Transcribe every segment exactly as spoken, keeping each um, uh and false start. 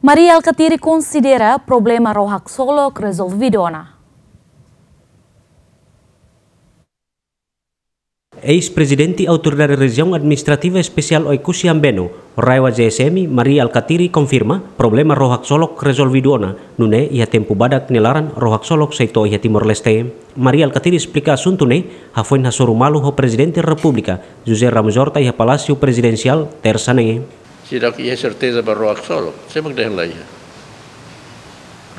Mari Alkatiri konsidera problema ró haksolok rezolvidu ona. Eis-prezidente Autoridade Rejiaun Administrativa Espesiál Oekusi Ambeno, RAEOA-G S M, Mari Alkatiri konfirma problema ró haksolok rezolvidu ona, nune'e iha tempu badak nia laran ró haksolok sei to'o iha Timor-Leste. Mari Alkatiri esplika asuntu ne'e hafoin hasoru malu ho Prezidente Repúblika, José Ramos Horta, iha Palásiu Prezidensiál, Tersa ne'e. Seidauk iha serteza ba ró haksolok, sé mak dehan la iha.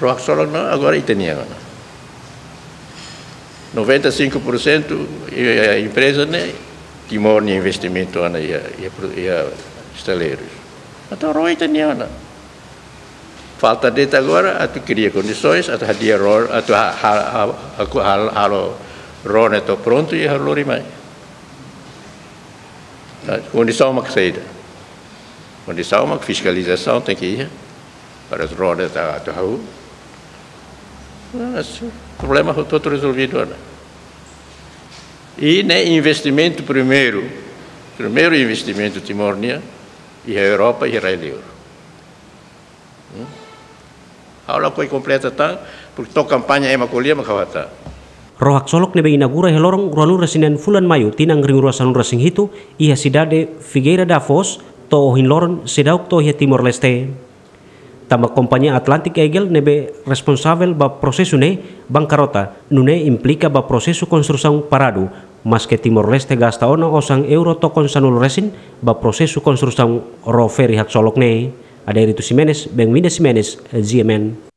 Ró haksolok ne'e agora ita-nian ona. Noventa e cinco por cento, eh, empreza ne'e Timor nia investimentu ona iha, iha pro-, iha estaleiru. Entaun ró ita-nian ona. Falta de'it agora atu kria kondisoens, atu hadi'a ró, atu ha-, ha-, ha-, ha-, hal-, halo ró ne'e to'o prontu i halo lori mai. Ah, kondisaun mak saida? Kondisaun mak fiskalizasaun tenke iha, para ró ne'e atu hahú. Ah, si, problema hotu-hotu rezolvidu ona. I ne'e investimentu primeiru, primeiru investimentu Timor nian iha Europa, iha rai-liur. Hmm? Ha'u lakohi kompleta tan, porque to'o kampaña ema ko'alia mak ha'u hatán. Ró haksolok ne'ebé inaugura iha loron ruanulu-resin-neen fulan Maiu tinan rihun rua sanulu-resin-hitu iha sidade Figueira da Foz, to'o ohin loron seidauk to'o iha Timor-Leste. Tanba kompañia Atlantic Eagle ne'ebé responsavel ba prosesu ne'e bankarota, nune'e implika ba prosesu konstrusaun paradu, maske Timor-Leste gasta ona osan euro tokon sanulu-resin ba prosesu konstrusaun ró feri haksolok ne'e. Adérito Ximenes, Benvinda Ximenes, G M N.